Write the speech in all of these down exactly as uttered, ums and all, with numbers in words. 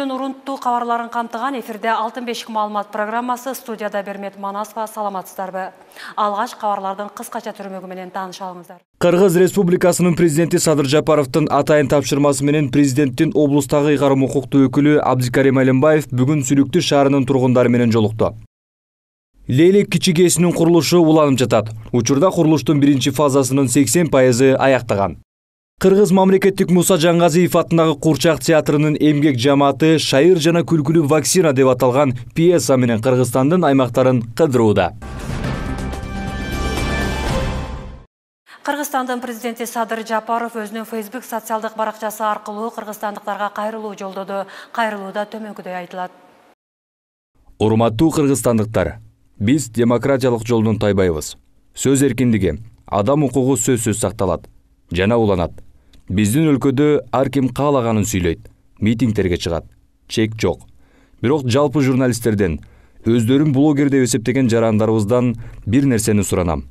Күндүн урунттуу кабарларын камтыган эфирде алтын бешик маалымат программасы, студияда Бермет Манасова. Саламатсыздарбы? Алгач кабарлардын кыскача түрмөгү менен тааныша алыңыздар. Кыргыз Республикасынын президенти Садыр Жапаровдун атайын тапшырмасы менен президенттин облустагы ыйгарым укуктуу өкүлү Абдикарим Алимбаев бүгүн Сүлүктү шаарынын тургундары менен жолукту. Лейлек кичи КЭСинин курулушу уланып жатат. Учурда курулуштун биринчи фазасынын сексен пайызы аяктаган. Кыргыз мамлекеттик Муса Жаңгазиев атындагы Курчак театрынын эмгек жамааты шайыр жана күлкүлүү вакцина деп аталган пьеса менен Кыргызстандын аймактарын кыдырууда. Кыргызстандын президенти Садыр Жапаров өзүнүн Facebook социалдык баракчасы аркылуу кыргызстандыктарга кайрылуу жолдоду. Кайрылууда төмөнкүдөй айтылат. Урматтуу кыргызстандыктар, биз демократиялык жолдон тайбайбыз. Сөз эркиндиги, адам укугу сөзсүз сакталат жана уланат. Биздин өлкөдө ар ким каалаганын сүйлөйт, митингтерге чыгат. Чек жок. Бирок жалпы журналисттерден, өздөрүн блогер деп эсептеген жарандарыбыздан бир нерсени суранам.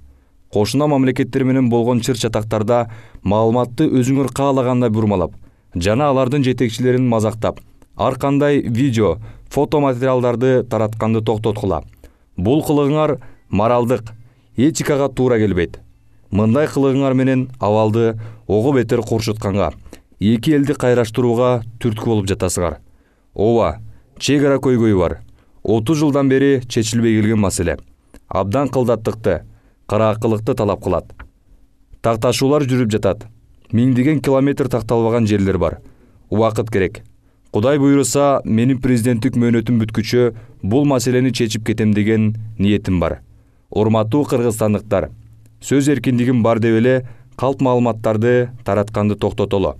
Кошуна мамлекеттер менен болгон чыр-чатактарда маалыматты өзүңөр каалагандай бурмалап, жана алардын жетекчилерин мазактап, ар кандай видео, фото материалдарды таратканды токтоткула. Бул кылыгыңар моралдык, этикага туура келбейт. Мындай кылыгыңар менен абалды ого бетер курчутканга, эки элди кайраштырууга түрткү болуп жатасыңар. Ооба, чек ара көйгөйү бар. отуз жылдан бери чечилбей келген маселе. Абдан кылдаттыкты, караакылыкты талап кылат. Такташуулар жүрүп жатат. Миңдеген километр такталбаган жерлер бар. Убакыт керек. Кудай буйруса, менин президенттик мөөнөтүм бүткүчө бул маселени чечип кетем деген ниетим бар. Урматтуу кыргызстандыктар, сөз эркиндигим бар деп эле калп маалыматтарды таратканды токтотолу.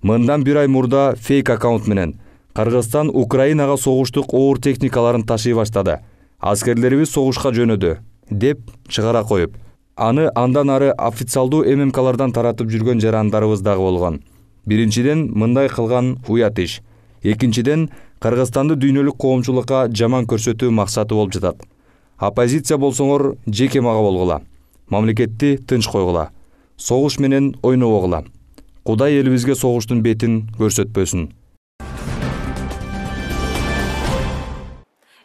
Мындан бир ай мурда фейк аккаунт менен Кыргызстан Украинага согуштук оор техникаларын ташый баштады. Аскерлерибиз согушка жөнөдү деп чыгара коюп, аны андан ары официалдуу эм эм калардан таратып жүргөн жарандарыбыз дагы болгон. Биринчиден, мындай кылган уят иш. Экинчиден, Кыргызстанды дүйнөлүк коомчулукка жаман көрсөтүү максаты болуп жатат. Оппозиция болсоңор жеке мага болгула. Мамлекетти тынч койгула. Согуш менен ойнобогула. Кудай элибизге согуштун бетин көрсөтпөсүн.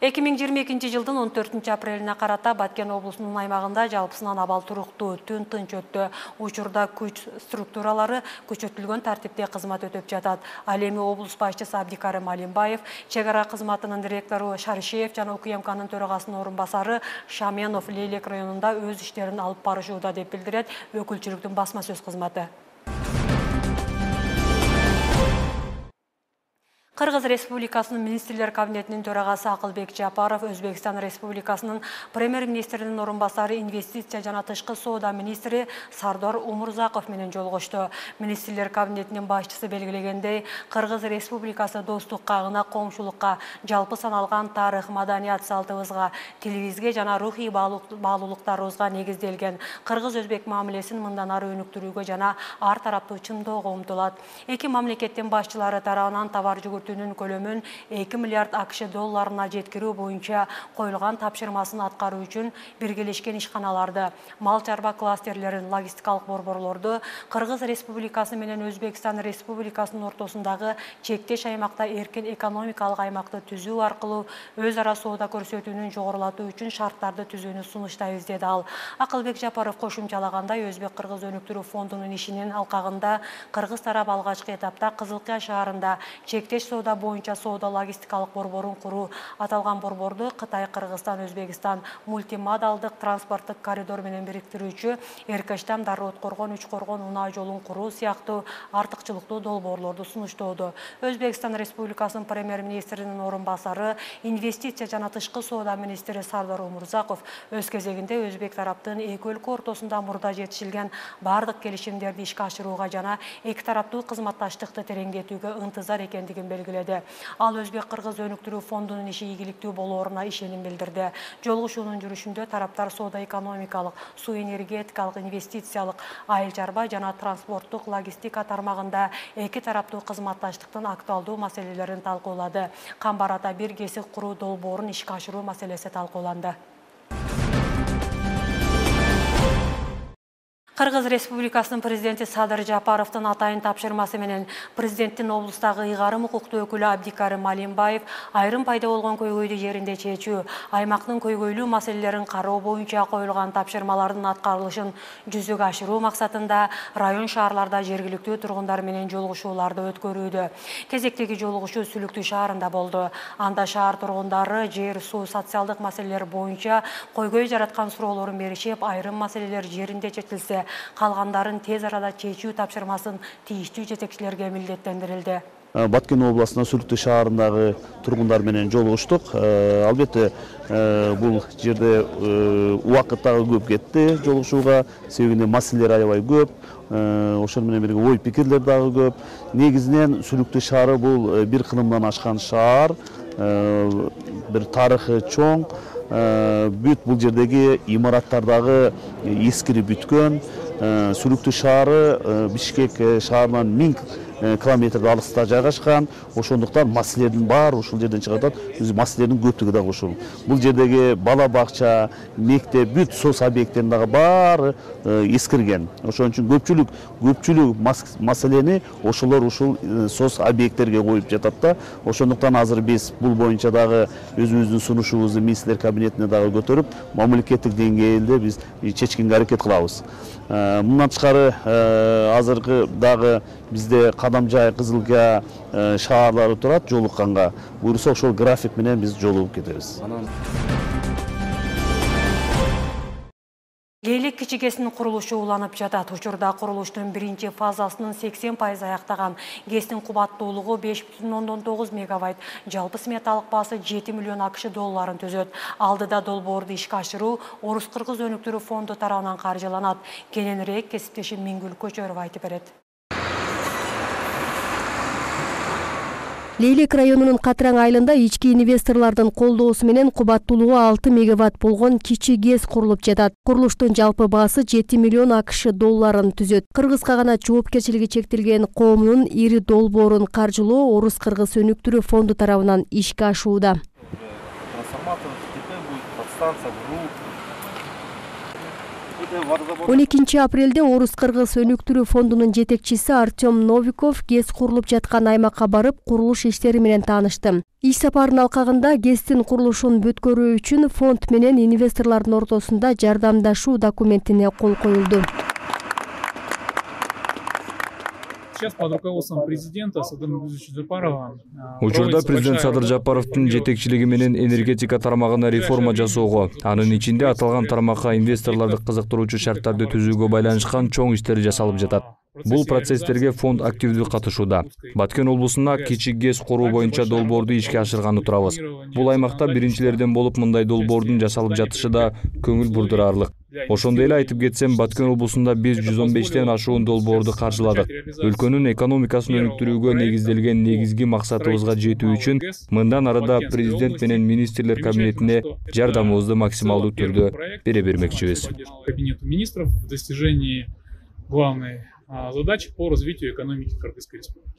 эки миң жыйырма экинчи жылдын он төртүнчү апрелине карата Баткен облусунун аймагында жалпысынан абал туруктуу, түн тынч өттү. Учурда күч структуралары күчөтүлгөн тартипте кызмат өтөп жатат. Ал эми облус башчысы Абдикарим Алимбаев, чек ара кызматынын директору Шаришев жана УКМКнын төрагасынын орун басары Шаменов Лейлек районунда өз иштерин алып барышууда деп билдирет өкүлчүлүктүн басма сөз кызматы. Кыргыз Республикасынын министрлер кабинетинин төрагасы Акылбек Жапаров Өзбекстан Республикасынын премьер-министринин орун басары инвестиция жана тышкы соода министри Сардор Умурзаков менен жолугушту. Министрлер кабинетинин башчысы белгилегендей, Кыргыз Республикасы достукка, ына коомчулукка, жалпы саналган тарых, маданият салтыбызга, тилибизге жана рухий баалуулуктарыбызга негизделген кыргыз-өзбек мамилесин мындан ары өнүктүрүүгө жана ар тараптуу чындоого умтулат. Эки мамлекеттин башчылары тарабынан товар жүгүртүүнүн көлөмүн эки миллиард АКШ долларына жеткирүү боюнча коюлган тапшырмасын аткаруу үчүн биргелешкен ишканаларды, мал чарба кластерлерин, логистикалык борборлорду Кыргыз Республикасы менен Өзбекстан Республикасынын ортосундагы чектеш аймакта эркин экономикалык аймакты түзүү аркылуу өз ара соода көрсөтүүнүн жогорулатуу үчүн шарттарды түзүүнү сунуштайбыз деди ал. Акылбек Жапаров кошумчалагандай, Өзбек-Кыргыз өнүктүрүү фондунун ишинин алкагында Кыргыз тарап алгачкы этапта Кызылкыя шаарында чектеш соода боюнча соода логистикалык борборун куруу. Аталган борборду Кытай, Кыргызстан, Өзбекстан мультимодалдык транспорттук коридор менен бириктирүүчү Эркештам, Дарыот-Коргон, Үч-Коргон унаа жолун куруу сыяктуу артыкчылыктуу долбоорлорду сунуштоодо. Өзбекстан Республикасынын премьер-министринин орун басары, инвестиция жана тышкы соода министри Сардор Умурзаков өз кезегинде Өзбек тараптын эки өлкө ортосунда мурда жетишилген бардык келишимдерди ишке ашырууга жана эки тараптуу кызматташтыкты тереңдетүүгө ынтызар экендигин белгиледи. Ал Өзбек-Кыргыз өнүктүрүү фондунун иши ийгиликтүү болооруна ишеним билдирди. Жолугушуунун жүрүшүндө тараптар соода экономикалык, суу энергетикалык, инвестициялык, айыл чарба жана транспорттук логистика тармагында эки тараптуу кызматташтыктын актуалдуу маселелерин талкуулады. Камбар ата бир кесип куруу долбоорун ишке ашыруу маселеси талкууланды. Кыргыз Республикасынын президенти Садыр Жапаровдун атайын тапшырмасы менен президенттин облустагы ыйгарым укуктуу өкүлү Абдикарим Алимбаев айрым пайда болгон көйгөйдү жеринде чечүү, аймактын көйгөйлүү маселелерин кароо боюнча коюлган тапшырмалардын аткарылышын жүзөгө ашыруу максатында район шаарларда жергиликтүү тургундар менен жолугушууларды өткөрүүдө. Кезектеги жолугушуу Сүлүктүү шаарында болду. Анда шаар тургундары жер, суу, социалдык маселелер боюнча көйгөй жараткан суроолорун беришип, айрым маселелер жеринде чечилсе, калгандарын тез арада чечүү тапшырмасын тийиштүү жетекчилерге милдеттендирилди. Баткен областына Сүлүктүү шаарындагы тургундар менен жолугуштук. Албетте бул жерде убакыт дагы көп кетти жолугушууга, себебинде маселелер аябай көп. Ошол менен бирге ой пикирлер дагы көп. Негизинен Сүлүктүү шаары бул бир кылымдан ашкан шаар, бир тарыхы чоң. Бүт бул жердеги имараттар дагы эскирип бүткөн. Сүлүктүү шаары Бишкек шаарынан миң километр алыста жайгашкан. Ошондуктан маселелердин баары ушул жерден чыгып атат. Маселелердин көптүгү дагы ушул. Бул жердеги бала бакча, мектеп, бүт соц объекттерин дагы баары эскирген. Ошон үчүн көпчүлүк көпчүлүк маселени ошолор ушул соц объекттерге коюп жатат да. Ошондуктан азыр биз бул боюнча дагы өзүбүздүн сунушубузду министрлер кабинетине дагы көтөрүп, мамлекеттик деңгээлде биз чечкенге аракет кылабыз. Мындан тышкары азыркы дагы бизде Кадамжай, Кызылга шаарлары турат жолукканга. Буюрса ошол график менен биз жолугуп кетебиз. Лейлик кичигесинин курулушу уланып жатат. Учурда курулуштун биринчи фазасынын сексен пайызы аяктаган. ГЭСтин кубаттуулугу беш бүтүн ондон тогуз мегаватт, жалпы сметалык баасы жети миллион акш долларын түзөт. Алдыда долбоорду ишке ашыруу Орус-Кыргыз өнүктүрүү фонду тарабынан каржыланат. Кененирээк кесиптешим Миңгүл Көчөров айтып берет. Лейлик районунун Катраң айылында ички инвесторлордун колдоосу менен кубаттуулугу алты мегаватт болгон кичи ГЭС курулуп жатат. Курулуштун жалпы баасы жети миллион акш долларын түзөт. Кыргыз каганат жоопкерчилиги чектелген коомунун ири долбоорун каржылоо Орус-Кыргыз өнүктүрүү фонду тарабынан ишке ашууда. он экинчи апрелде Орус-Кыргыз өнүктүрүү фондунун жетекчиси Артем Новиков ГЭС курулуп жаткан аймакка барып, курулуш иштери менен таанышты. Иш сапарынын алкагында ГЭСтин курулушун бүткөрүү үчүн фонд менен инвесторлордун ортосунда жардамдашуу документине кол коюлду. Сейчас под руководством президента Садыра Жапарова. Учурда президент Садыр Жапаровдун жетекчилиги менен энергетика тармагына реформа жасоого, анын ичинде аталган тармакка инвесторлорду кызыктыруучу шарттарды түзүүгө байланышкан чоң иштер жасалып жатат. Бул процесстерге фонд активдүү катышууда. Баткен облусуна кичи ГЭС куруу боюнча долбоорду ишке ашырганы турабыз. Бул аймакта биринчилерден болуп мындай долбоордун жасалып жатышы да көңүл бурдураарлык. Ошондой эле айтып кетсем, Баткен облусунда биз жүз он бештен ашуун долбоорду каржыладык. Өлкөнүн экономикасын өнүктүрүүгө негизделген негизги максатыбызга жетүү үчүн мындан арада президент менен министрлер кабинетине жардамыбызды максималдуу түрдө бере бермекчибиз. Кабинету министров в достижении главной задачи по развитию экономики Кыргызской республики.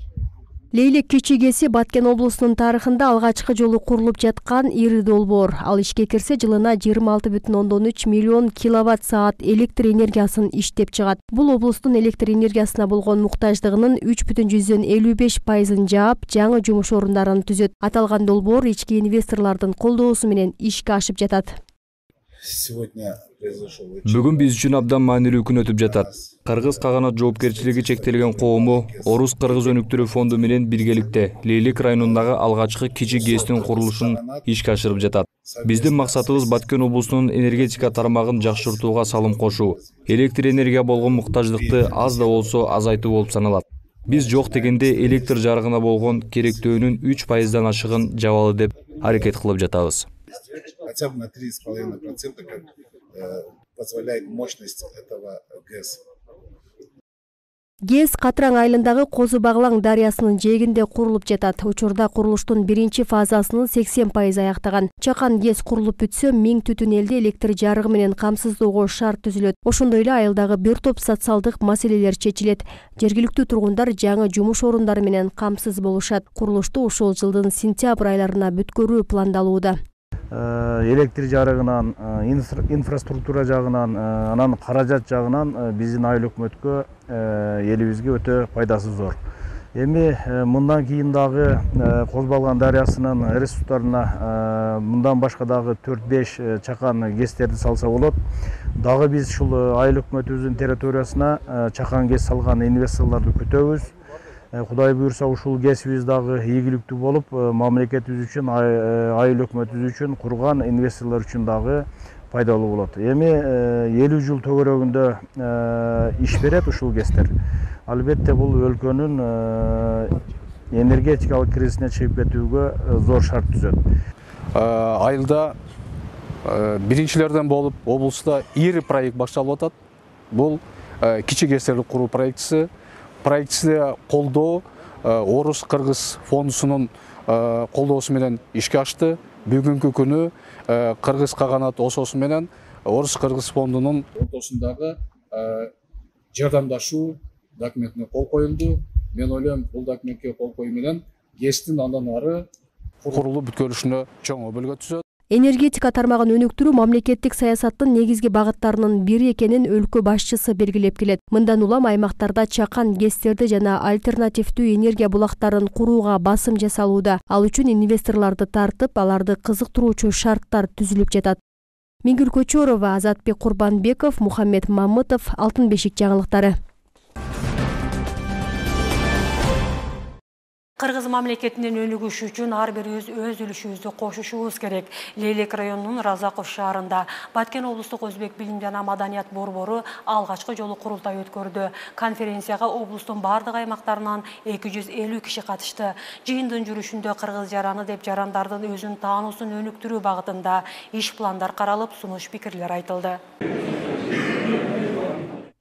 Лейлик кичи ГЭСи Баткен облусунун тарыхында алгачкы жолу курулуп жаткан ири долбоор. Ал ишке кирсе жылына жыйырма алты бүтүн ондон үч миллион киловатт саат электр энергиясын иштеп чыгат. Бул облустун электр энергиясына болгон муктаждыгынын үч бүтүн жүздөн элүү беш пайызын жаап, жаңы жумуш орундарын түзөт. Аталган долбоор ички инвесторлордун колдоосу менен ишке ашып жатат. Бүгүн биз үчүн абдан маанилүү күн өтүп жатат. Кыргыз каганат жоопкерчилиги чектелген коому Орус-Кыргыз өнүктүрүү фонду менен биргеликте Лейлик районундагы алгачкы кичи ГЭСтин курулушун ишке ашырып жатат. Биздин максатыбыз Баткен облусунун энергетика тармагын жакшыртууга салым кошуу, электр энергия болгон муктаждыкты аз да болсо азайтуу болуп саналат. Биз жок дегенде электр жарыгына болгон керектөөнүн үч пайыздан ашыгын жабалы деп аракет кылып жатабыз. Хотя бы на три с половиной процента, как э, позволяет мощность этого ГЭС. ГЭС Катраң айылындагы Козу Баглаң дарыясынын жээгинде курулуп жатат. Учурда курулуштун биринчи фазасынын сексен пайызы аяктаган. Чакан ГЭС курулуп бүтсө, миң түтүн элди электр жарыгы менен камсыздоого шарт түзүлөт. Ошондой эле айылдагы бир топ социалдык маселелер чечилет. Жергиликтүү тургундар жаңы жумуш орундары менен камсыз болушат. Курулушту ушул жылдын сентябрь айларына бүткөрүү пландалууда. электр жарыгынан, инфраструктура жагынан, анан каражат жагынан биздин айыл өкмөткө, элибизге өтө пайдасы зор. Эми мындан кийин дагы Козбалган дарыясынын ресурстарына мындан башка дагы төрт беш чакан гэстерди салса болот. Дагы биз ушул айыл өкмөтүбүздүн территориясына чакан гэс салган инвесторлорду күтөбүз. Кудай буюрса ушул кесибиз дагы ийгиликтүү болуп, мамлекетибиз үчүн, айыл өкмөтүбүз үчүн, курган инвесторлор үчүн дагы пайдалуу болот. Эми элүү жыл төгөрөгүндө иш берет ушул кестер. Албетте бул өлкөнүн энергетикалык кризисине чыгып кетүүгө зор шарт түзөт. Айылда биринчилерден болуп, облуста ири проект башталып атат. Бул кичи кестерди куруу проектиси. Проектисине колдоо Орус Кыргыз фондусунун колдоосу менен ишке ашты. Бүгүнкү күнү Кыргыз каганат ососу менен Орус Кыргыз фондунун ортосундагы жардамдашуу документине кол коюлду. Мен ойлойм, бул документке кол коюу менен ГЭСтин андан ары курулуп бүткөрүшүнө чоң өбөлгө түзөт. Энергетика тармагын өнүктүрүү мамлекеттик саясаттын негизги багыттарынын бири экенин өлкө башчысы белгилеп келет. Мындан улам аймактарда чакан гэстерди жана альтернативдүү энергия булактарын курууга басым жасалууда. Ал үчүн инвесторлорду тартып, аларды кызыктыруучу шарттар түзүлүп жатат. Миңгүл Көчөрова, Азатбек Курбанбеков, Мухаммед Мамытов, Алтын бешик жаңылыктары. Кыргыз мамлекетинин өнүгүшү үчүн ар бирибиз өз үлүшүбүздү кошушубуз керек. Лейлек районунун Разаков шаарында Баткен облустук өзбек билим жана маданият борбору алгачкы жолу курултай өткөрдү. Конференцияга облустун бардык аймактарынан эки жүз элүү киши катышты. Жыйындын жүрүшүндө кыргыз жараны деп жарандардын өзүн таануусун өнүктүрүү багытында иш пландар каралып, сунуш пикирлер айтылды.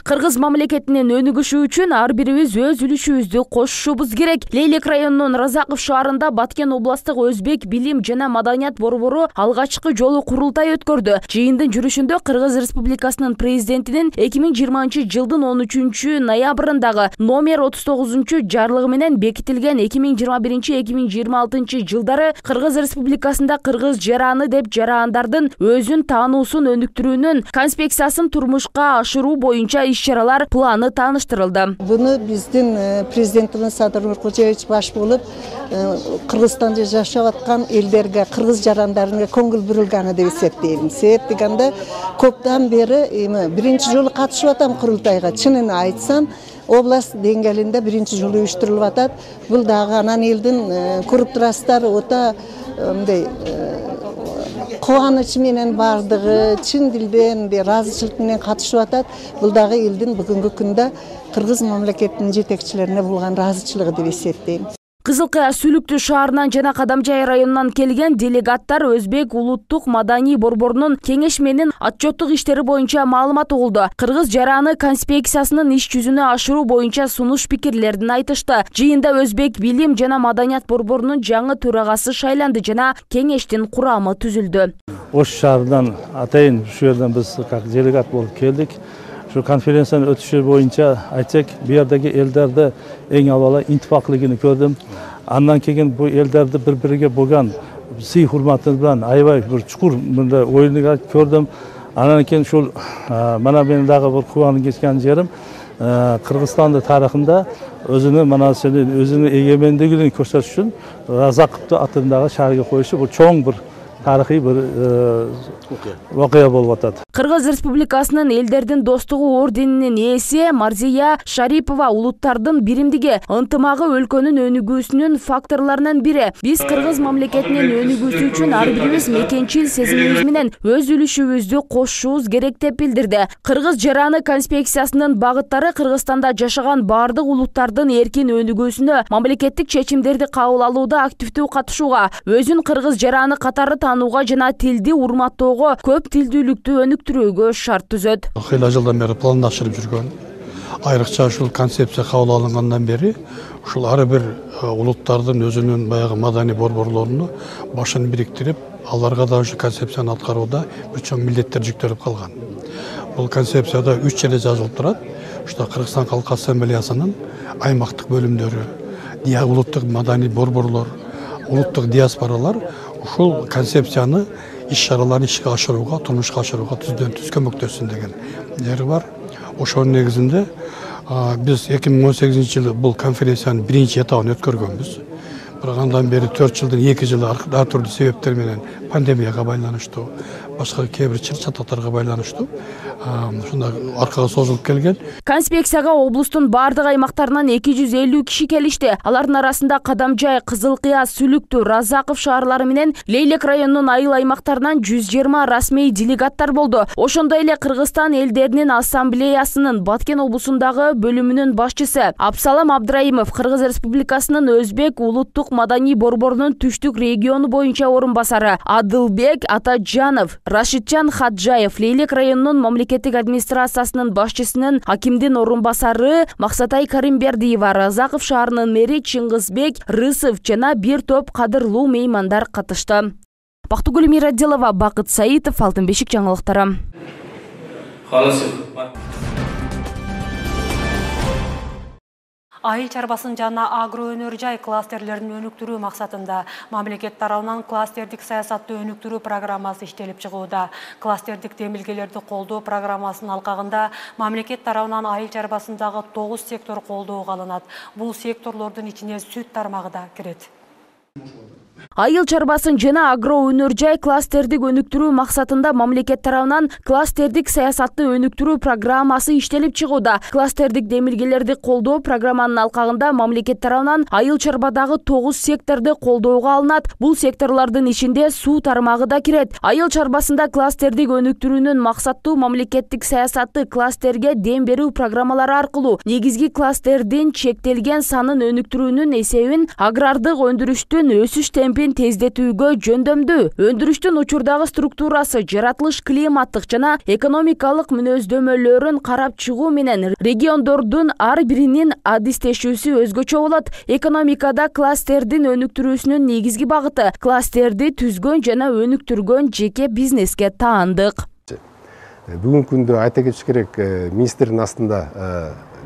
Кыргыз мамлекетинин өнүгүшү үчүн ар бирибиз өз үлүшүбүздү кошушубуз керек. Лейлек районунун Разаков шаарында Баткен областык өзбек билим жана маданият борбору алгачкы жолу курултай өткөрдү. Жыйындын жүрүшүндө Кыргыз Республикасынын президентинин эки миң жыйырманчы жылдын он үчүнчү ноябрындагы номер отуз тогузунчу жарлыгы менен бекитилген эки миң жыйырма биринчи эки миң жыйырма алтынчы жылдары Кыргыз Республикасында кыргыз жараны деп жарандардын өзүн таануусун өнүктүрүүнүн конспекциясын турмушка ашыруу боюнча иш-чаралар планы тааныштырылды. Буну биздин президентибиз Садыр Нуркожоевич баш болуп, Кыргызстанда жашап аткан элдерге, кыргыз жарандарына көңүл бурулганы деп эсептейм. Себеп дегенде көптөн бери биринчи жолу катышып атам курултайга. Чынын айтсам, область деңгээлинде биринчи жолу уюштурулуп атат. Бул дагы анан элдин көрүп турасыздар, ота мындай кубаныч менен бардыгы чын дилден ыраазычылык менен катышып атат. Бул дагы элдин бүгүнкү күндө кыргыз мамлекетинин жетекчилерине болгон ыраазычылыгы деп эсептейм. Кызыл Кая Сүлүктүү шаарынан жана Кадамжай районунан келген делегаттар Өзбек улуттук маданий борборунун кеңешменин отчеттук иштери боюнча маалымат угулду. Кыргыз жараны конспекциясынын иш жүзүнө ашыруу боюнча сунуш пикирлерин айтышты. Жыйында Өзбек билим жана маданият борборунун жаңы төрагасы шайланды жана кеңештин курамы түзүлдү. Ош шаарынан атайын ушу жерден биз как делегат болуп келдик. Şu konferensiyanın ötüşü boyunca aytsak, bu yerdeki ellerde en avvalo intifakligini gördüm. Andan keyin bu ellerde bir-biriga bo'lgan siy hurmati bilan aybay bir chuqur bunda o'yinni ko'rdim. Andan keyin shu mana meni dag'i bir quvonib ketgan yerim Qirg'iziston tarixida o'zini mana sening o'zini egemenligini ko'rsatish uchun Razaqovni atindagi shaharga qo'yishi bu cho'ng bir tarixiy bir voqea bo'lib o'tadi. Кыргыз Республикасынын элдердин достугу орденинин ээси Марзия Шарипова улуттардын биримдиги, ынтымагы өлкөнүн өнүгүүсүнүн факторлорунун бири. Биз кыргыз мамлекетинин өнүгүүсү үчүн ар бирибиз мекенчил сезимибиз менен өз үлүшүбүздү кошушубуз керек деп билдирди. Кыргыз жараны конспекциясынын багыттары Кыргызстанда жашаган бардык улуттардын эркин өнүгүүсүнө, мамлекеттик чечимдерди кабыл алууда активдүү катышууга, өзүн кыргыз жараны катары таанууга жана тилди урматтоого, көп тилдүүлүктү өнүктүрүүгө шарт түзөт. Кыйла жылдан бери пландашырып жүргөн. Айрыкча ушул концепция кабыл алынгандан бери ушул ар бир улуттардын өзүнүн баягы маданий борборлоруну башын бириктирип, аларга да ушу концепцияны аткарууда бир чоң милдеттер жүктөлүп калган. Бул концепцияда үч жерде жазылып турат. Ушта Кыргызстан Калк Ассамблеясынын аймактык бөлүмдөрү, диа улуттук маданий борборлор, улуттук диаспоралар ушул концепцияны иш чараларын ишке ашырууга, турмушка ашырууга түздөн түз көмөктөшсүн деген жери бар. Ошонун негизинде биз эки миң он сегизинчи жылы бул конференциянын биринчи этабын өткөргөнбүз. Бирок андан бери төрт жылдын эки жылы ар түрдүү себептер менен пандемияга байланыштуу, башка кээ бир чататтарга байланыштуу ушундай аркага созулуп келген. Конспекцияга облустун бардык аймактарынан эки жүз элүү киши келишти. Алардын арасында Кадамжай, Кызыл Кыя, Сүлүктүү, Разаков шаарлары менен Лейлек районунун айыл аймактарынан жүз жыйырма расмий делегаттар болду. Ошондой эле Кыргызстан элдеринин ассамблеясынын Баткен облусундагы бөлүмүнүн башчысы Абсалам Абдраимов, Кыргыз Республикасынын Өзбек улуттук маданий борборунун түштүк региону боюнча орун басары Адылбек Атаджанов, Рашиджан Хаджаев, Лейлек районунун мамлекеттик администрациясынын башчысынын акимдин орун басары Максатай Каримбердиева, Разаков шаарынын мэри Чыңгызбек Рысов жана бир топ кадырлуу меймандар катышты. Бактыгүл Мирадилова, Бакыт Саитов, Алтын бешик жаңылыктары. Айыл чарбасын жана агро өнөр жай кластерлерин өнүктүрүү максатында мамлекет тарабынан кластердик саясатты өнүктүрүү программасы иштелип чыгууда. Кластердик демилгелерди колдоо программасынын алкагында мамлекет тарабынан айыл чарбасындагы тогуз сектор колдоого алынат. Бул секторлордун ичине сүт тармагы да кирет. Айыл чарбасын жана агро өнөр жай кластердик өнүктүрүү максатында мамлекет тарабынан кластердик саясатты өнүктүрүү программасы иштелип чыгууда. Кластердик демилгелерди колдоо программанын алкагында мамлекет тарабынан айыл чарбадагы тогуз секторду колдоого алынат. Бул секторлордун ичинде суу тармагы да кирет. Айыл чарбасында кластердик өнүктүрүүнүн максаттуу мамлекеттик саясатты кластерге дем берүү программалары аркылуу негизги кластердин чектелген санын өнүктүрүүнүн эсебин агрардык өндүрүштүн өсүш темпин тездетүүгө жөндөмдүү. Өндүрүштүн учурдагы структурасы, жаратылыш климаттык жана экономикалык мүнөздөмөлөрүн карап чыгуу менен региондордун ар биринин адистешүүсү өзгөчө болот. Экономикада кластердин өнүктүрүүсүнүн негизги багыты кластерди түзгөн жана өнүктүргөн жеке бизнеске таандык. Бүгүнкү күндө айта кетиш керек, министрдин астында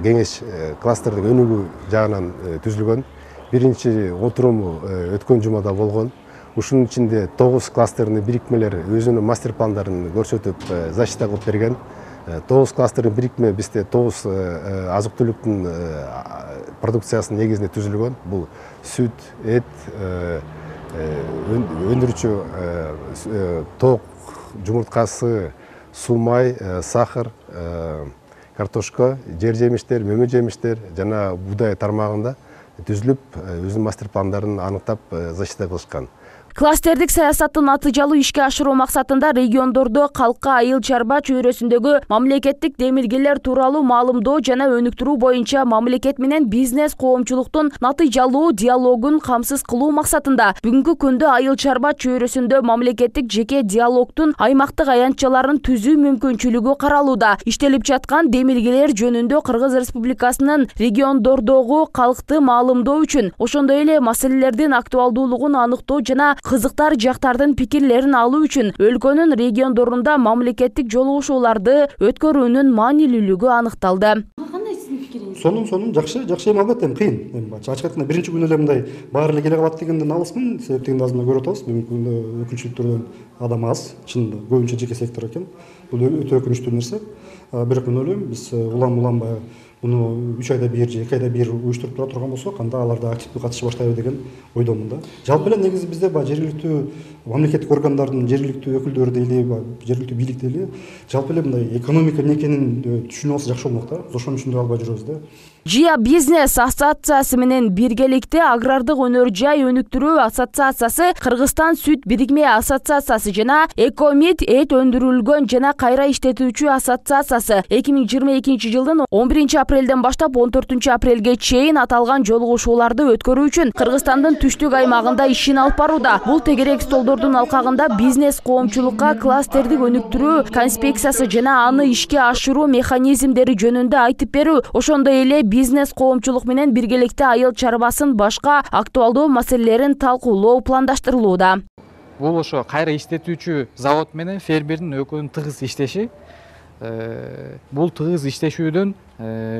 кеңеш кластердик өнүгүү жагынан түзүлгөн. Биринчи отуруму өткөн жумада болгон. Ушунун ичинде тогуз кластердин бирикмелери өзүнүн мастер пландарын көрсөтүп, защита кылып берген. тогуз кластердин бирикме бизде тогуз азык түлүктүн продукциясынын негизинде түзүлгөн. Бул сүт, эт, өндүрүүчү ток, жумурткасы, суу май, сахар, картошка, жер жемиштер, мөмө жемиштер жана буудай тармагында түзүлүп, өзүнүн мастер пландарын аныктап защита кылышкан. Кластердик саясаттын натыйжалуу ишке ашыруу максатында региондордо калкка айыл чарба чөйрөсүндөгү мамлекеттик демилгелер тууралуу маалымдоо жана өнүктүрүү боюнча мамлекет менен бизнес коомчулуктун натыйжалуу диалогун камсыз кылуу максатында бүгүнкү күндө айыл чарба чөйрөсүндө мамлекеттик жеке диалогтун аймактык аянтчаларын түзүү мүмкүнчүлүгү каралууда. Иштелип жаткан демилгелер жөнүндө Кыргыз Республикасынын региондордогу калкты маалымдоо үчүн, ошондой эле маселелердин актуалдуулугун аныктоо жана кызыктар жактардын пикирлерин алуу үчүн өлкөнүн региондорунда мамлекеттик жолугушууларды өткөрүүнүн маанилүүлүгү аныкталды. Кандай сиздин пикириңиз? Сонун сонун жакшы, жакшы эми албетте кыйын. Эми ачык айтканда биринчи күнү эле мындай баары эле келе калат дегенден алысмын. Себеп дегенди азыр көрүп атабыз. Бүгүнкү күндө өкүлчүлүктөрдөн адам аз, чынында көбүнчө жеке сектор экен. Бул өтө өкүнүчтүү нерсе. Бирок мен ойлойм, биз улам улам баягы муну үч айда бир же эки айда бир уюштуруп тура турган болсок, анда алар да активдүү катышып баштайбы деген ойдомун да. Жалпы эле негизи бизде баягы жергиликтүү мамлекеттик органдардын жергиликтүү өкүлдөрү дейли, жергиликтүү бийлик дейли, жалпы эле мындай экономика эмне экенин түшүнүп алса жакшы болмок да. Биз ошону түшүндүрө албай жүрөбүз да. Жия бизнес ассоциациясы менен биргеликте агрардык өнөр жай өнүктүрүү ассоциациясы, Кыргызстан сүт бирикме ассоциациясы жана Экомит эт өндүрүлгөн жана кайра иштетүүчү ассоциациясы эки миң жыйырма экинчи жылдын он биринчи апрелден баштап он төртүнчү апрелге чейин аталган жолугушууларды өткөрүү үчүн Кыргызстандын түштүк аймагында ишин алып барууда. Бул тегерек столдордун алкагында бизнес коомчулукка кластердик өнүктүрүү конспекциясы жана аны ишке ашыруу механизмдери жөнүндө айтып берүү, ошондой эле бизнес коомчулук менен биргеликте айыл чарбасын башка актуалдуу маселелерин талкуулоо пландаштырылууда. Бул ошо кайра иштетүүчү завод менен фермердин экөөнүн тыгыз иштеши. Бул тыгыз иштешүүдөн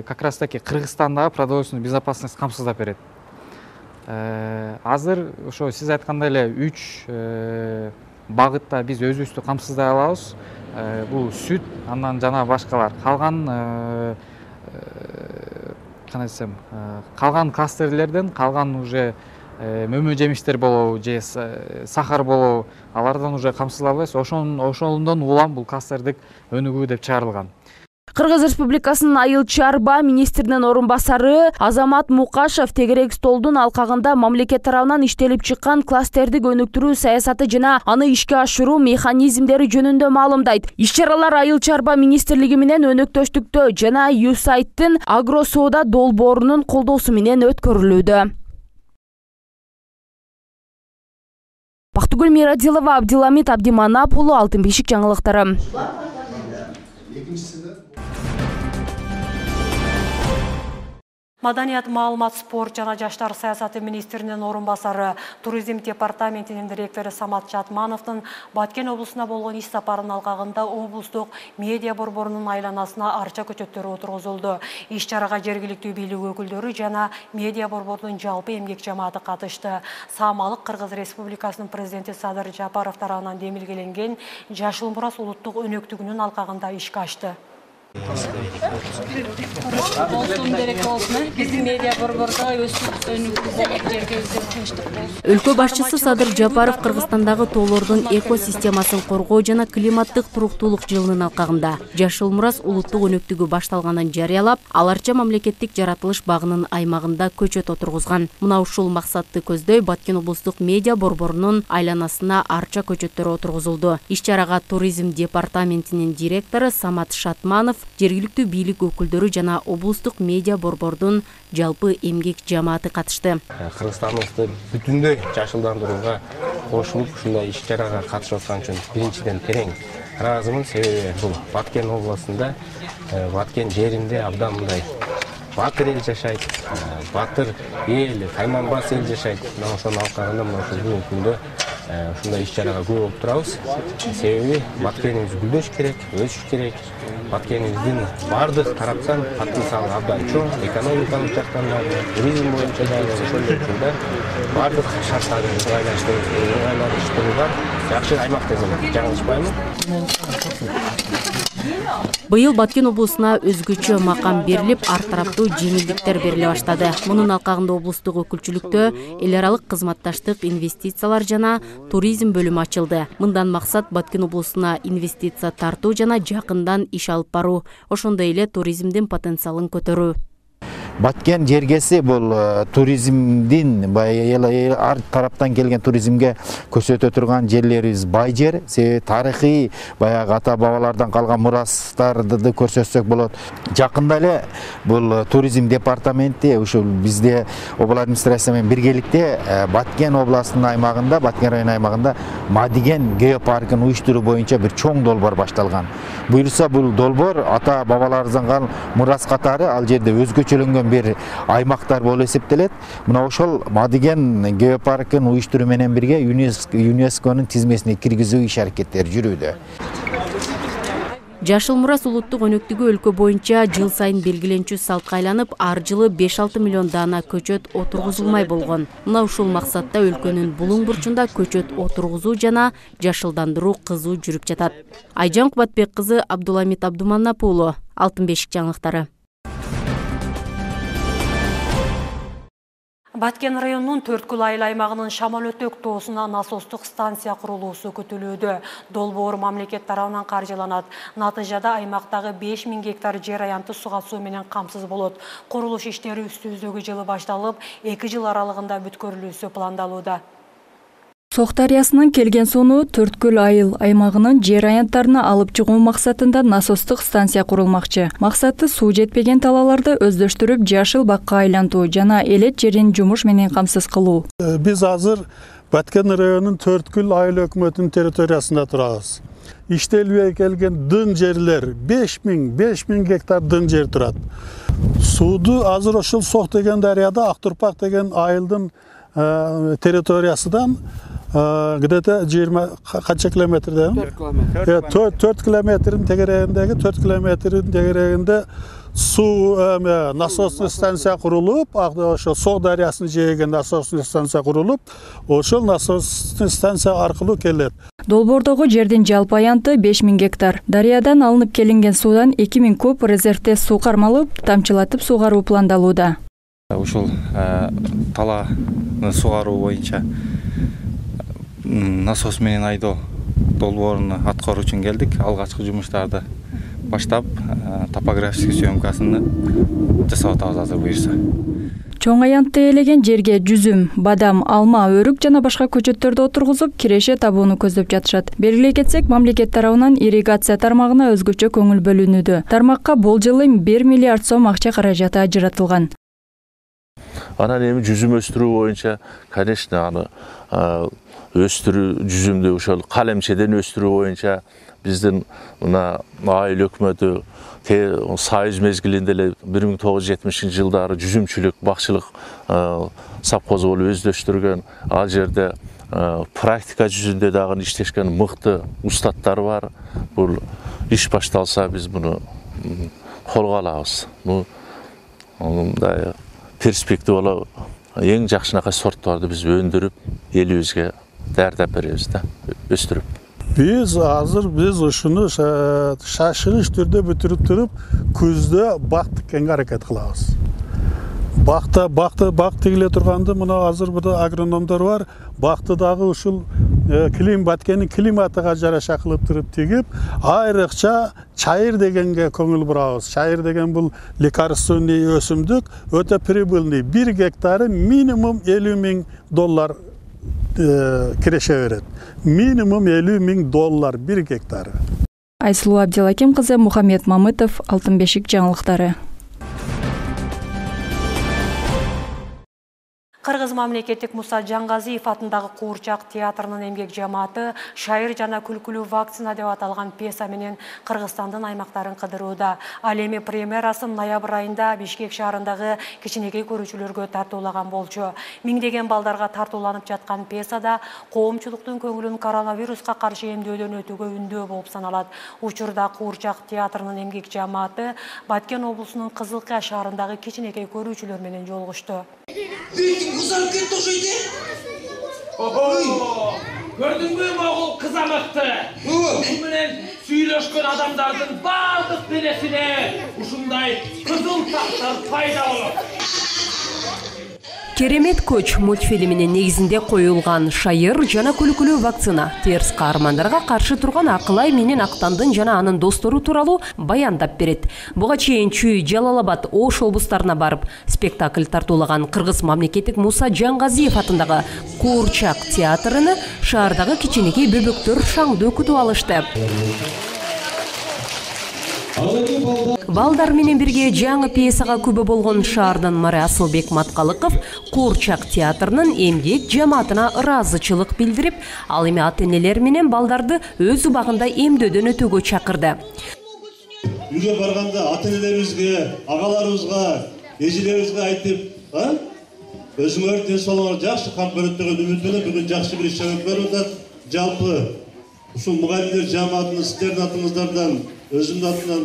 как раз таки Кыргызстандагы продовольственный безопасность камсыздап берет. Азыр ошо сиз айткандай эле үч багытта биз өзүбүздү камсыздай алабыз. Бул сүт, андан жана башкалар. Калган кандай десем, калган кластерлерден калган уже мөмө жемиштер болобу же сахар болобу, алардан уже камсыздалбайбыз. Ошондон улам бул кластердик өнүгүү деп чыгарылган. Кыргыз Республикасынын айыл чарба министринин орун басары Азамат Мукашев тегерек столдун алкагында мамлекет тарабынан иштелип чыккан кластердик өнүктүрүү саясаты жана аны ишке ашыруу механизмдери жөнүндө маалымдайт. Иш-чаралар айыл чарба министрлиги менен өнөктөштүктө жана ЮСАИДтин агро соода долбоорунун колдоосу менен өткөрүлүүдө. Бактыгүл Мирадилова, Абдиламит Абдиманап уулу, Алтын бешик жаңылыктары. Маданият, маалымат, спорт жана жаштар саясаты министринин орун басары, туризм департаментинин директору Самат Шатмановдун Баткен облусуна болгон иш сапарынын алкагында облустук медиа борборунун айланасына арча көчөттөрү отургузулду. Иш-чарага жергиликтүү бийлик өкүлдөрү жана медиа борборунун жалпы эмгек жамааты катышты. Саамалык Кыргыз Республикасынын президенти Садыр Жапаров тарабынан демилгеленген Жашыл Мурас улуттук өнөктүгүнүн алкагында ишке ашты. Өлкө башчысы Садыр Жапаров Кыргызстандагы тоолордун экосистемасын коргоо жана климаттык туруктуулук жылынын алкагында Жашыл Мурас улуттук өнөктүгү башталганын жарыялап, ал арча мамлекеттик жаратылыш багынын аймагында көчөт отургузган. Мына ушул максатты көздөй Баткен облустук медиа борборунун айланасына арча көчөттөрү отургузулду. Иш-чарага туризм департаментинин директору Самат Шатманов, жергиликтүү бийлик өкүлдөрү жана облустук медиа борбордун жалпы эмгек жамааты катышты. Кыргызстаныбызды бүтүндөй жашылдандырууга кошулуп ушундай иш-чарага катышып аткан үчүн биринчиден терең ыраазымын. Себеби бул Баткен областында, Баткен жеринде абдан мындай батыр эл жашайт, батыр эл, тайманбас эл жашайт. Мына ошонун алкагында мына ушул бүгүнкү күндө ушундай иш-чарага көп болуп турабыз. Себеби Баткенибиз гүлдөш керек, өсүш керек. Баткенибиздин бардык тараптан потенциалы абдан чоң, экономикалык жактан да, туризм боюнча да, ошондой учурда бардык шарттарды ыңгайлаштырылган жакшы аймак десем жаңылышпаймын. Быйыл Баткен облусуна өзгөчө макам берилип, ар тараптуу жеңилдиктер бериле баштады. Мунун алкагында облустук өкүлчүлүктө эл аралык кызматташтык, инвестициялар жана туризм бөлүмү ачылды. Мындан максат Баткен облусуна инвестиция тартуу жана жакындан иш алып баруу, ошондой эле туризмдин потенциалын көтөрүү. Баткен жергеси бул туризмдин ар тараптан келген туризмге көрсөтө турган жерлерибиз бай жер. Себеби тарыхый баягы ата бабалардан калган мурастарды көрсөтсөк болот. Жакында эле бул туризм департаменти ушул бизде облус администрациясы менен биргеликте Баткен областынын аймагында, Баткен району аймагында Мадиген геопаркын уюштуруу боюнча бир чоң долбоор башталган. Буюрса бул долбоор ата бабаларыбыздан калган мурас катары ал жерде өзгөчөлөнгөн бир аймактар болуп эсептелет. Мына ошол Мадиген геопаркын уюштуруу менен бирге ЮНЕСКОнун тизмесине киргизүү иш-аракеттери жүрүүдө. Жашыл Мурас улуттук өнөктүгү өлкө боюнча жыл сайын белгиленчү салтка айланып, ар жылы беш алты миллион даана көчөт отургузулмай болгон. Мына ушул максатта өлкөнүн булуң бурчунда көчөт отургузуу жана жашылдандыруу кызуу жүрүп жатат. Айжан Кубатбек кызы, Абдуламит Абдиманап уулу, Алтын бешик жаңылыктары. Баткен районунун Төрткүл айыл аймагынын Шамал өтөк тоосуна насостук станция курулуусу күтүлүүдө. Долбоор мамлекет тарабынан каржыланат. Натыйжада аймактагы беш миң гектар жер аянты суга суу менен камсыз болот. Курулуш иштери үстүбүздөгү жылы башталып, эки жыл аралыгында бүткөрүлүүсү пландалууда. Сок дарыясынан келген сууну Төрткүл айыл аймагынын жер аянттарына алып чыгуу максатында насостук станция курулмакчы. Максаты суу жетпеген талааларды өздөштүрүп, жашыл бакка айлантуу жана элет жерин жумуш менен камсыз кылуу. Биз азыр Баткен районунун Төрткүл айыл өкмөтүнүн территориясында турабыз. Иштелбей келген дын жерлер беш миң гектар дын жер турат. Сууду азыр ошол Сок деген дарыяда Актурпак деген айылдын территориясынан где-то жыйырма канча километрден төрт километрдин тегерегиндеги төрт километрдин тегерегинде суу эме насосный станция курулуп, ошо Соо дарыясынын жээгинде насосный станция курулуп, ошол насосный станция аркылуу келет. Долбоордогу жердин жалпы аянты беш миң гектар. Дарыядан алынып келинген суудан эки миң куб резервде суу кармалып, тамчылатып суугаруу пландалууда. Ушул талааны суугаруу боюнча насос менен айдоо долбоорун аткаруу үчүн келдик. Алгачкы жумуштарды баштап, топографический съемкасын жасап атабыз азыр буюрса. Чоң аянтты ээлеген жерге жүзүм, бадам, алма, өрүк жана башка көчөттөрдү отургузуп, киреше табууну көздөп жатышат. Белгилей кетсек, мамлекет тарабынан ирригация тармагына өзгөчө көңүл бөлүнүүдө. Тармакка бул жылы бир миллиард сом акча каражаты ажыратылган. Анан эми жүзүм өстүрүү боюнча, конечно, аны өстүрүү жүзүмдү ошол калемчеден өстүрүү боюнча биздин мына айыл өкмөтү Союз мезгилинде эле бир миң тогуз жүз жетимишинчи жылдары жүзүмчүлүк, бакчылык совхозу болуп өздөштүргөн. Ал жерде практика жүзүндө дагы иштешкен мыкты устаттар бар. Бул иш башталса биз муну колго алабыз. Бул мындай перспективалуу эң жакшынакай сорттарды биз өндүрүп, элибизге даярдап беребиз да, өстүрүп. Biz hazır biz uşunu şaşırış türde bütürüp durup күздө бактыкенге аракет кылабыз. Бакта бакты бак тигиле турганды мына азыр burada агрономдор бар. Бактыдагы ушул климат Баткендин климатыга жараша кылып туруп тигип, айрыкча чайыр дегенге көңүл бурабыз. Чайыр деген бул лекарственный өсүмдүк, өтө прибыльный. бир гектары минимум элүү миң доллар киреше берет. Минимум элүү миң доллар бир гектары. Айсулуу Абдилаким кызы, Мухаммед Мамытов, Алтын бешик жаңылыктары. Кыргыз мамлекеттик Муса Жаңгазиев атындагы Куурчак театрынын эмгек жамааты шайыр жана күлкүлүү вакцина деп аталган пьеса менен Кыргызстандын аймактарын кыдырууда. Ал эми премьерасын ноябрь айында Бишкек шаарындагы кичинекей көрүүчүлөргө тартуулаган болчу. Миңдеген балдарга тартууланып жаткан пьесада коомчулуктун көңүлүн коронавируска каршы эмдөөдөн өтүүгө үндөө болуп саналат. Учурда Куурчак театрынын эмгек жамааты Баткен облусунун Кызылкая шаарындагы кичинекей көрүүчүлөр менен жолугушту. Kızarıp gitti o şeydi. Oho! Gördün mü oğul kızamıktı? Bunun süylöşkün adamların bağlık biresine uşunday kızıl tahtlar fayda olur. Керемет көч мультфильминин негизинде коюлган шайыр жана күлкүлүү вакцина терс каармандарга каршы турган Акылай менен Актандын жана анын достору тууралуу баяндап берет. Буга чейин Чүй, Жалал-Абад, Ош облустарына барып спектакль тартуулаган Кыргыз мамлекеттик Муса Жаңгазиев атындагы Куурчак театрыны шаардагы кичинекей бөбөктөр шаңды өкүтүп алышты. Балдар менен бирге жаңы пьесага күбө болгон шаардын мэрі Асылбек Маткалыков Куурчак театрынын эмгек жамаатына ыраазычылык билдирип, ал эми ата-энелер менен балдарды өз убагында эмдөөдөн өтүүгө чакырды. Үйгө барганда ата-энелерибизге, агаларыбызга, эжелерибизге айтып, өзүңөр ден соолугуңар жакшы камп көрөт деген үмүт менен бүгүн жакшы бир иш чыгарып атат. Жалпы ушул мугалимдер жамаатынын сиздердин атыңыздардан, өзүмдүн атымдан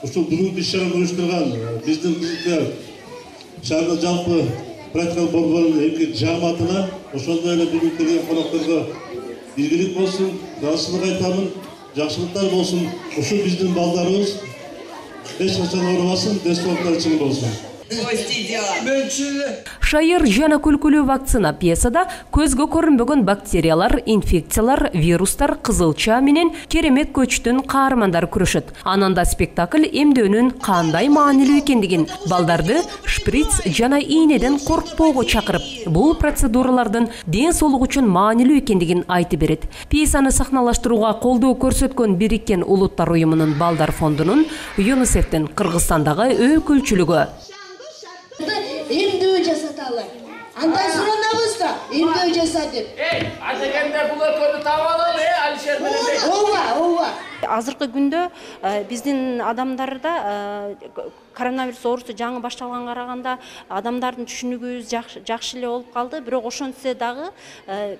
ушул бүгүнкү иш-чараны уюштурган биздин Кызылкая шаарында жалпы практикалык борборунун эмгек жамаатына, ошондой эле бүгүнкү келген конокторго ийгилик болсун, ыраазычылык айтамын, жакшылыктар болсун. Ушул биздин балдарыбыз эч качан оорубасын, ден соолуктары чың болсун. Шайыр жана күлкүлүү вакцина пьесада көзгө көрүнбөгөн бактериялар, инфекциялар, вирустар, кызылча менен керемет көчтүн каармандары күрөшөт. Ананда спектакль эмдөөнүн кандай маанилүү экендигин, балдарды шприц жана ийнеден коркпоого чакырып, бул процедуралардын ден соолук үчүн маанилүү экендигин айтып берет. Пьесаны сахналаштырууга колдоо көрсөткөн Бириккен Улуттар уюмунун Балдар фондунун ЮНИСЕФтин Кыргызстандагы өкүлчүлүгү. Эмдөө жасаталы. Андан суранабыз да, эмдөө жаса деп. Эй, атегенде бул өкөнү таап алалы, э, Алишер менен. Ооба, ооба. Азыркы күндө биздин адамдарда коронавирус оорусу жаңы башталганга караганда адамдардын түшүнүгүбүз жакшы эле болуп калды. Бирок ошентсе дагы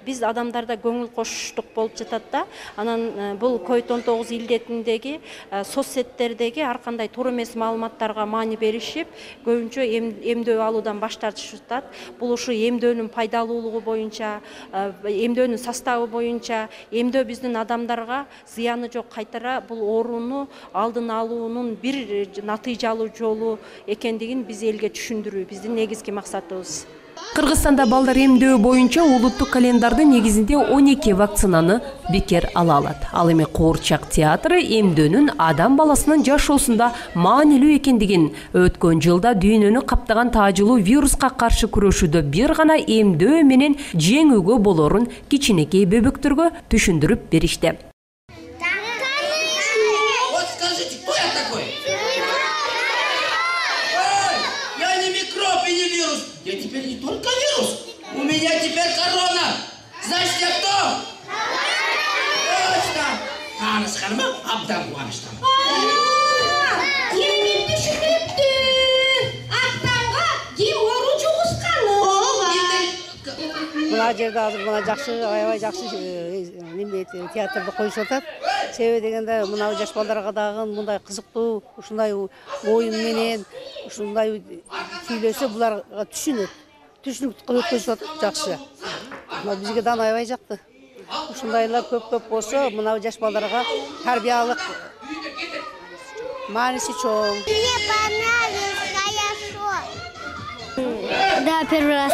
биз адамдарда көңүл кошуштук болуп жатат да. Анан бул ковид он тогуз илдетиндеги соц сеттердеги ар кандай туура эмес маалыматтарга маани беришип, көбүнчө эмдөө алуудан баш тартышып жатат. Бул ушу эмдөөнүн пайдалуулугу боюнча, эмдөөнүн составы боюнча, эмдөө биздин адамдарга зыяны жок, кайтара бул ооруну алдын алуунун бир натыйжалуу жолу экендигин биз элге түшүндүрүү биздин негизги максатыбыз. Кыргызстанда балдар эмдөө боюнча улуттук календардын негизинде он эки вакцинаны бекер ала алат. Ал эми Куурчак театры эмдөөнүн адам баласынын жашоосунда маанилүү экендигин, өткөн жылда дүйнөнү каптаган таажылуу вируска каршы күрөшүүдө бир гана эмдөө менен жеңүүгө болорун кичинекей бөбөктөргө түшүндүрүп беришти. Я теперь не только вирус, у меня теперь корона. Знаете, я кто? Точно. Таныс ханыма абдан кубаныштамын. Керемет түшүнүптү. Актанга ким оору жугусканы? Мына жерде азыр мына жакшы, аябай жакшы неме театрды коюшуп атат. Себеби дегенде мына жаш балдарга дагы мындай кызыктуу, ушундай оюн менен, ушундай сүйлөсө буларга түшүнөт. Түшүнүк өткөзүп атат жакшы. Мына бизге да аябай жакты. Ушундайлар көп-көп болсо, мына жаш балдарга тарбиялык мааниси чоң. Мне понравилось хорошо. Да, первый раз.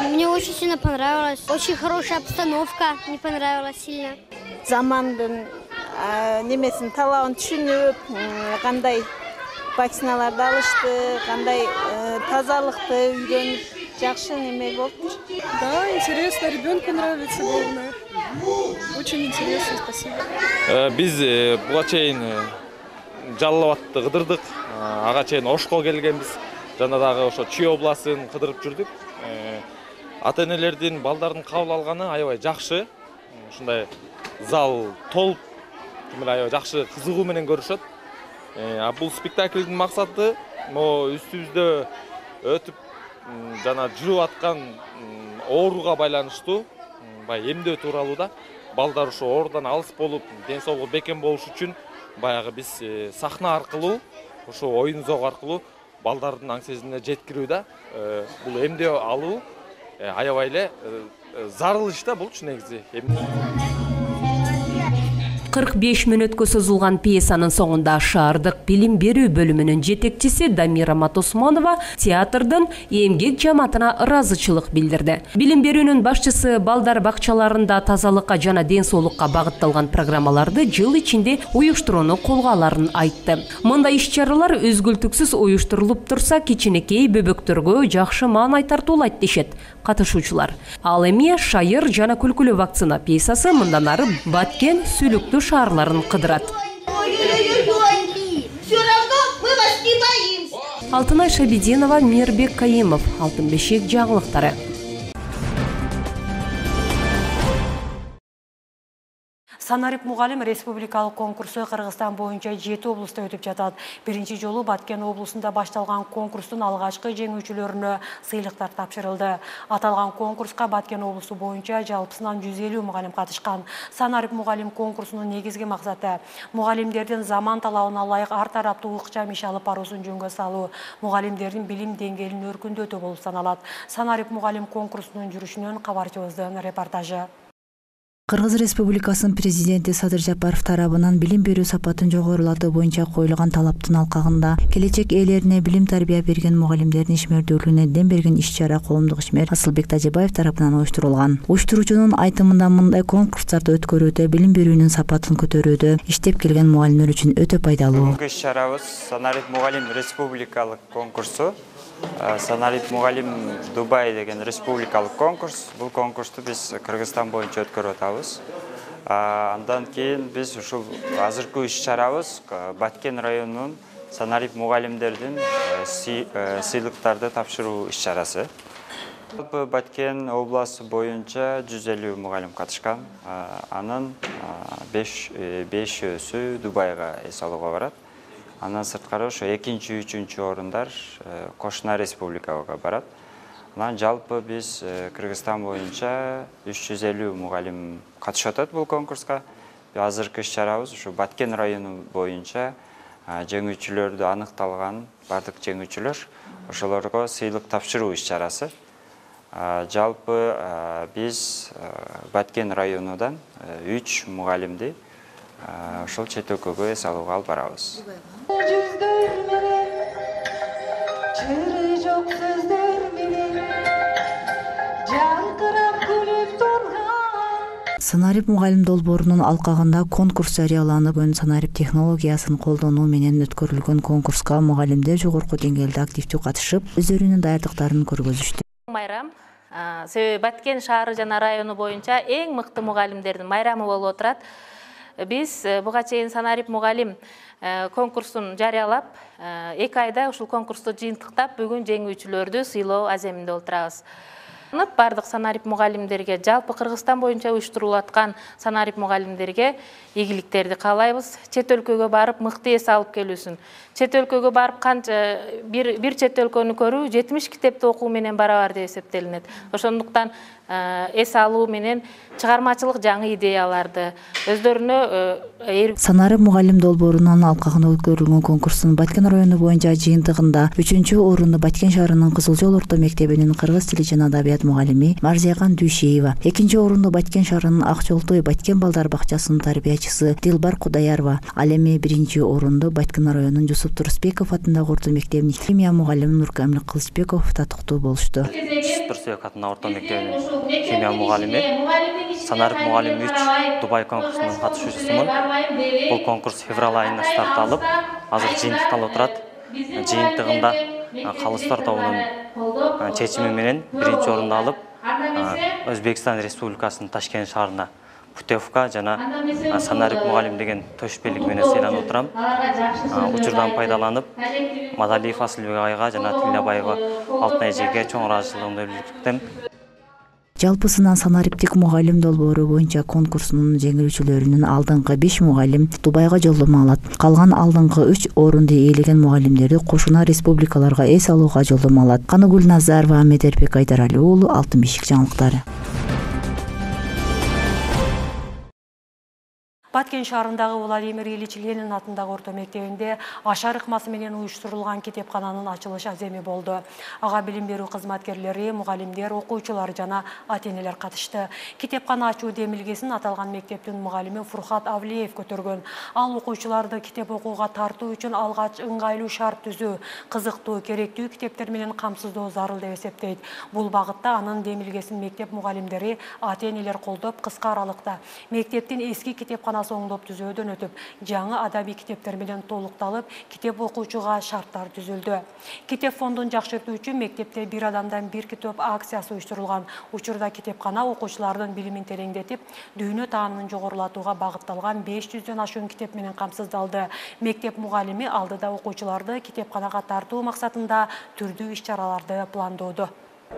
Мне очень сильно понравилось. Очень хорошая обстановка. Мне понравилось сильно. Замандын немесин талабын түшүнүп, кандай вакциналарды алышты, кандай тазалыкты үйрөнүп, жакшы неме болуптур. Да, интересно, ребенку нравится, главное. Очень интересно, спасибо. Биз буга чейин Жалал Абадты кыдырдык, ага чейин Ошко келгенбиз. Жана дагы ошо Чүй областын кыдырып жүрдүк. Ата-энелердин балдардын кабыл алганы аябай жакшы. Ушундай зал толуп, аябай жакшы кызыгуу менен көрүшөт. А бул спектаклдин максаты могу үстүбүздө өтүп жана жүрүп аткан ооруга байланыштуу, баягы эмдөө тууралуу да. Балдар ошо оорудан алыс болуп, ден соолугу бекем болуш үчүн баягы биз сахна аркылуу, ошо оюн зоо аркылуу балдардын аң сезимине жеткирүү да. Бул эмдөө алуу аябай эле зарыл иш да, булчу негизи. кырк беш мүнөткө созулган пьесанын соңунда шаардык билим берүү бөлүмүнүн жетекчиси Дамира Матосмонова театрдын эмгек жамаатына ыраазычылык билдирди. Билим берүүнүн башчысы балдар бакчаларында тазалыкка жана ден соолукка багытталган программаларды жыл ичинде уюштурууну колго аларын айтты. Мындай иш-чаралар өзгүлтүксүз уюштурулуп турса, кичинекей бөбөктөргө жакшы маанай тартуулайт дешет катышуучулар. Ал эми Шайыр жана күлкүлүү вакцина пьесасы мындан ары Баткен, Сүлүктүү шаарларын кыдырат. Алтынай Шабидинова, Мирбек Каимов, Алтын бешик жаңылыктары. Санарип мугалим республикалык конкурсу Кыргызстан боюнча жети облустта өтүп жатат. Биринчи жолу Баткен облусунда башталган конкурстун алгачкы жеңүүчүлөрүнө сыйлыктар тапшырылды. Аталган конкурска Баткен облусу боюнча жалпысынан жүз элүү мугалим катышкан. Санарип мугалим конкурсунун негизги максаты мугалимдердин заман талабына ылайык ар тараптуу ыкчам иш алып баруусун жөнгө салуу, мугалимдердин билим деңгээлин өркүндөтүү болуп саналат. Санарип мугалим конкурсунун жүрүшүнөн кабарчыбыздын репортажы. Кыргыз Республикасынын президенти Садыр Жапаров тарабынан билим берүү сапатын жогорулатуу боюнча коюлган талаптын алкагында келечек ээлерине билим тарбия берген мугалимдердин ишмердүүлүгүнө дем берген иш-чара коомдук ишмер Асылбек Тажибаев тарабынан уюштурулган. Уюштуруучунун айтымында мындай конкурстарды өткөрүүдө билим берүүнүн сапатын көтөрүүдө иштеп келген мугалимдер үчүн өтө пайдалуу. Бүгүнкү иш-чарабыз Санарип мугалим республикалык конкурсу. Санарип мугалим Дубай деген республикалык конкурс. Бул конкурсту биз Кыргызстан боюнча өткөрүп атабыз. Андан кийин биз ушул азыркы иш-чарабыз Баткен районунун Санарип мугалимдердин сыйлыктарды тапшыруу иш-чарасы. Жалпы Баткен областы боюнча жүз элүү мугалим катышкан. Анын бешөөсү Дубайга эс алууга барат. Андан сырткары ошо экинчи, үчүнчү орундар кошуна республикага барат. Анан жалпы биз Кыргызстан боюнча үч жүз элүү мугалим катышып атат бул конкурска. Азыркы иш-чарабыз ушу Баткен району боюнча жеңүүчүлөрдү аныкталган бардык жеңүүчүлөр ошолорго сыйлык тапшыруу иш-чарасы. Жалпы биз Баткен районудан үч мугалимди ошол чет өлкөгө эс алууга алып барабыз. Санарип мугалим долбоорунун алкагында конкурс жарыяланып, өн санарип технологиясын колдонуу менен өткөрүлгөн конкурска мугалимдер жогорку деңгээлде активдүү катышып, өздөрүнүн даярдыктарын көргөзүштү. Майрам себеби Баткен шаары жана району боюнча эң мыкты мугалимдердин майрамы болуп отурат. Биз буга чейин санарип мугалим конкурсун жарыялап, эки айда ушул конкурсту жыйынтыктап, бүгүн жеңүүчүлөрдү сыйлоо аземинде отурабыз. Бардык санарип мугалимдерге, жалпы Кыргызстан боюнча уюштурулуп аткан санарип мугалимдерге ийгиликтерди каалайбыз. Чет өлкөгө барып мыкты эс алып келүүсүн. Чет өлкөгө барып канча бир бир чет өлкөнү көрүү жетимиш китепти окуу менен барабар деп эсептелинет. Ошондуктан эс алуу менен чыгармачылык жаңы идеяларды өздөрүнө Санарип мугалим долбоорунун алкагында өткөрүлгөн конкурстун Баткен району боюнча жыйынтыгында үчүнчү орунду Баткен шаарынын Кызыл Жол орто мектебинин кыргыз тили жана адабият мугалими Марзияган Дүйшеева, экинчи орунду Баткен шаарынын Ак Жолтой Баткен балдар бакчасынын тарбиячысы Дилбар Кудаярова, ал эми биринчи орунду Баткен районунун Жусуп Турсбеков атындагы орто мектебинин химия мугалими Нуркамил Кылычбеков татыктуу болушту. Жусуп Турсбеков атындагы орто мектебинин химия мугалими, санарип мугалим үч Дубай конкурсунун катышуучусумун. Бул конкурс февраль айында старт алып, азыр жыйынтыкталып отурат. Жыйынтыгында калыстар тобунун чечими менен биринчи орунду алып, Өзбекстан Республикасынын Ташкент шаарына путевка жана санарип мугалим деген төшпелик менен сыйланып отурам. Учурдан пайдаланып, Мадалиев Асылбек айга жана Тилябаева Алтын эжеге чоң ыраазычылыгымды билдирем. Жалпысынан санариптик мугалим долбоору боюнча конкурсунун жеңүүчүлөрүнүн алдыңкы беш мугалим Дубайга жолдомо алат. Калган алдыңкы үч орунду ээлеген мугалимдерди кошуна республикаларга эс алууга жолдомо алат. Каныгүл Назарова, Ахмет Эрбек Айдарали уулу, Алтын бешик жаңылыктары. Баткен шаарындагы Владимир Ильич Ленин атындагы орто мектебинде ашар ыкмасы менен уюштурулган китепкананын ачылыш аземи болду. Ага билим берүү кызматкерлери, мугалимдер, окуучулар жана ата-энелер катышты. Китепкана ачуу демилгесин аталган мектептин мугалими Фурхат Авлиев көтөргөн. Ал окуучуларды китеп окууга тартуу үчүн алгач ыңгайлуу шарт түзүү, кызыктуу, керектүү китептер менен камсыздоо зарыл деп эсептейт. Бул багытта анын демилгесин мектеп мугалимдери, ата-энелер колдоп, кыска аралыкта мектептин эски китепкана оңдоп түзөөдөн өтүп, жаңы адаби китептер менен толукталып, китеп окуучуга шарттар түзүлдү. Китеп фондун жакшыртуу үчүн мектепте бир адамдан бир китеп акциясы уюштурулган. Учурда китепкана окуучулардын билимин тереңдетип, дүйнө таанымын жогорулатууга багытталган беш жүздөн ашуун китеп менен камсыздалды. Мектеп мугалими алдыда окуучуларды китепканага тартуу максатында түрдүү иш-чараларды пландоодо.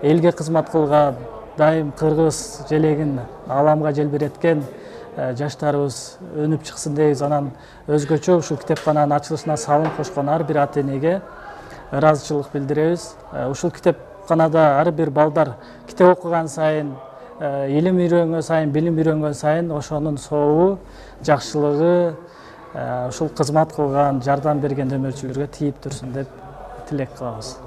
Элге кызмат кылган, дайым кыргыз желегин аламга желбиреткен жаштарыбыз өнүп чыксын дейбиз. Анан өзгөчө ушул китепкананын ачылышына салым кошкон ар бир ата-энеге ыраазычылык билдиребиз. Ушул китепканада ар бир балдар китеп окуган сайын, илим үйрөнгөн сайын, билим үйрөнгөн сайын ошонун сообу, жакшылыгы ушул кызмат кылган, жардам берген өмүрчүлөргө тийип турсун деп тилек кылабыз.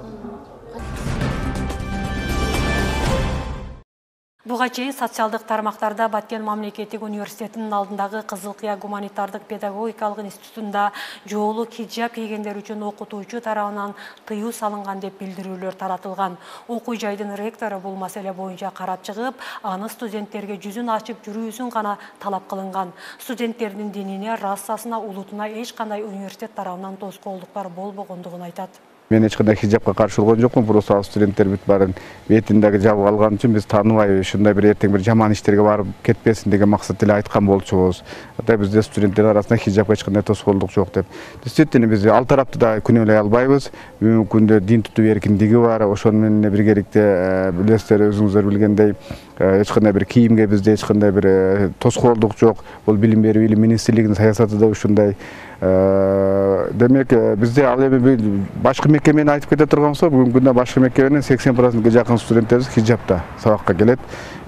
Буга чейин социалдык тармактарда Баткен мамлекеттик университетинин алдындагы Кызыл Кыя гуманитардык педагогикалык институтунда жоолук хиджаб кийгендер үчүн окутуучу тарабынан тыюу салынган деп билдирүүлөр таратылган. Окуу жайдын ректору бул маселе боюнча карап чыгып, аны студенттерге жүзүн ачып жүрүүсүн гана талап кылынган. Студенттердин динине, расасына, улутуна эч кандай университет тарабынан тоскоолдуктар болбогондугун айтат. Мен эч кандай хижапка каршы болгон жокмун, просто ал студенттер бүт баарын бетиндеги жабып алган үчүн биз тааныбай ушундай бир эртең бир жаман иштерге барып кетпесин деген максат эле айткан болчубуз. Ата бизде студенттер арасында хижапка эч кандай тоскоолдук жок деп. Действительно биз ал тарапты да күнөөлөй албайбыз. Бүгүнкү күндө дин тутуу эркиндиги бар. Ошону менен биргеликте билесиздер, өзүңүздөр билгендей, эч кандай бир кийимге бизде эч кандай бир тоскоолдук жок. Бул билим берүү илим министрлигинин саясаты да ушундай. Демек бизде ал эми башкы мекемени айтып кете турган болсок, бүгүнкү күндө башкы мекеменин сексен процентке жакын студенттерибиз хижапта сабакка келет.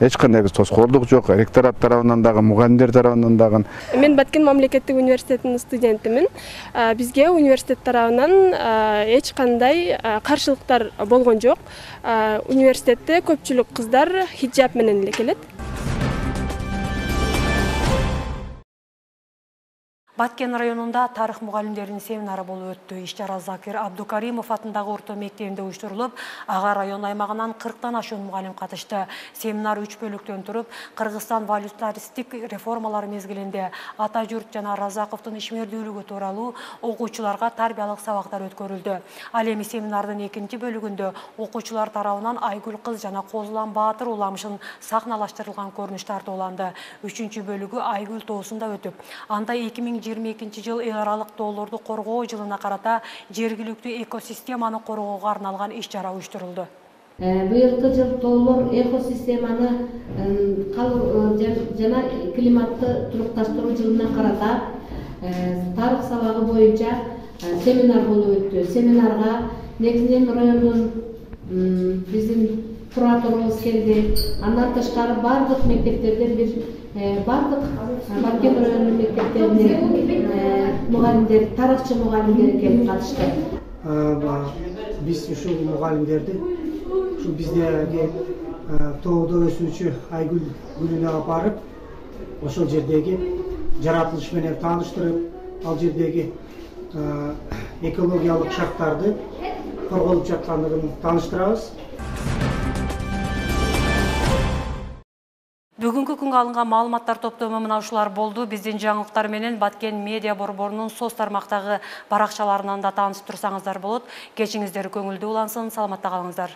Эч кандай биз тоскоолдук жок. Ректорат тарабынан дагы, мугалимдер тарабынан дагы. Мен Баткен мамлекеттик университетинин студентимин. Бизге университет тарабынан эч кандай каршылыктар болгон жок. Университетте көпчүлүк кыздар хижап менен эле келет. Баткен районунда тарых мугалимдеринин семинары болуп өттү. Иш-чара Закир Абдукаримов атындагы орто мектебинде уюштурулуп, ага район аймагынан кырктан ашуун мугалим катышты. Семинар үч бөлүктөн туруп, Кыргызстан валютаристик реформалар мезгилинде ата журт жана Разаковдун ишмердүүлүгү тууралуу окуучуларга тарбиялык сабактар өткөрүлдү. Ал эми семинардын экинчи бөлүгүндө окуучулар тарабынан Айгүл кыз жана Козулан Баатыр уламышын сахналаштырылган көрүнүш тартууланды. Үчүнчү бөлүгү Айгүл тоосунда өтүп, анда эки миң жыйырма экинчи жыл эл аралык тоолорду коргоо жылына карата жергиликтүү экосистеманы коргоого арналган иш-чара уюштурулду. Быйылкы жыл тоолор экосистеманы жана климатты турукташтыруу жылына карата тарых сабагы боюнча семинар болуп өттү. Семинарга негизинен райондун биздин кураторубуз келди. Андан тышкары бардык мектептерден бир бардык Баткен районунун мектептеринин мугалимдери, тарыхчы мугалимдери келип катышты. Биз ушул мугалимдерди ушул биздеги тоодо өсүүчү Айгүл гүлүнө алып барып, ошол жердеги жаратылыш менен тааныштырып, ал жердеги экологиялык шарттарды корголуп жаткандыгын тааныштырабыз. Бүгүнкү күнгө алынган маалыматтар топтому мына ушулар болду. Биздин жаңылыктар менен Баткен медиа борборунун соц тармактагы баракчаларынан да таанышып турсаңыздар болот. Кечиңиздер көңүлдүү улансын, саламатта калыңыздар.